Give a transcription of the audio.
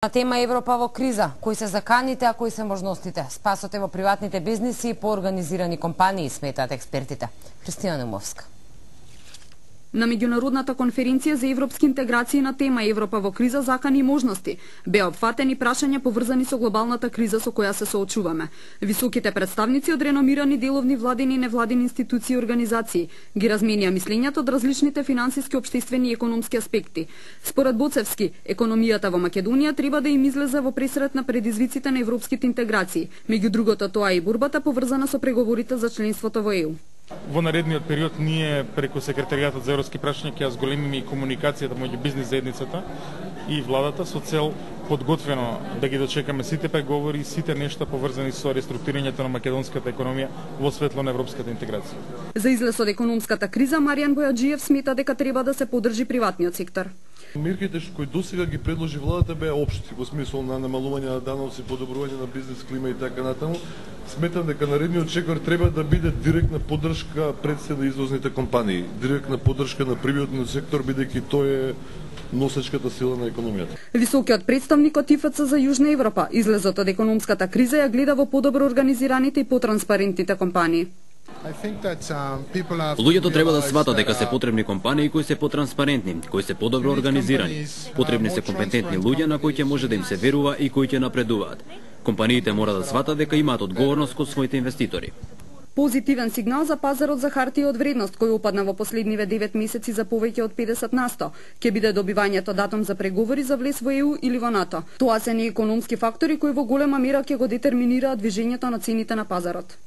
На тема Европа во криза, кои се заканите, а кои се можностите? Спасот е во приватните бизниси и по организирани компании, сметаат експертите. Христина Немовска. На меѓународната конференција за европски интеграции на тема Европа во криза, закани и можности, беа опфатени прашања поврзани со глобалната криза со која се соочуваме. Високите представници од реномирани деловни владини и невладини институции и организации ги разменија мислењата од различните финансиски, општествени и економски аспекти. Според Боцевски, економијата во Македонија треба да им излезе во пресрет на предизвиците на европските интеграции, меѓу другото тоа и борбата поврзана со преговорите за членството во ЕУ. Во наредниот период ние преку секретаријатот за европски прашања ќе ја зголемиме и комуникацијата меѓу бизнис заедницата и владата со цел подготвено да ги дочекаме сите преговори и сите нешта поврзани со реструктурирањето на македонската економија во светло на европската интеграција. За излез од економската криза, Маријан Бојаджиев смета дека треба да се поддржи приватниот сектор. Мерките кои досега ги предложи владата беа општи, во смисол на намалување на даноци, подобрување на бизнес клима и така натаму. Сметам дека наредниот чекор треба да биде директна поддршка пред се на извозните компании, директна поддршка на приватниот сектор, бидејќи тој е носечката сила на економијата. Високиот представник од ИФЦ за Јужна Европа излезот од економската криза ја гледа во подобро организираните и потранспарентните компании. Луѓето треба да сватат дека се потребни компании кои се потранспарентни, кои се подобро организирани. Потребни се компетентни луѓе на кои ќе може да им се верува и кои ќе напредуваат. Компаниите мора да сватат дека имаат одговорност кон своите инвеститори. Позитивен сигнал за пазарот за хартија од вредност, кој опадна во последниве 9 месеци за повеќе од 50%, ќе биде добивањето датум за преговори за влез во ЕУ или во НАТО. Тоа се неекономски фактори кои во голема мера ќе го детерминираат движењето на цените на пазарот.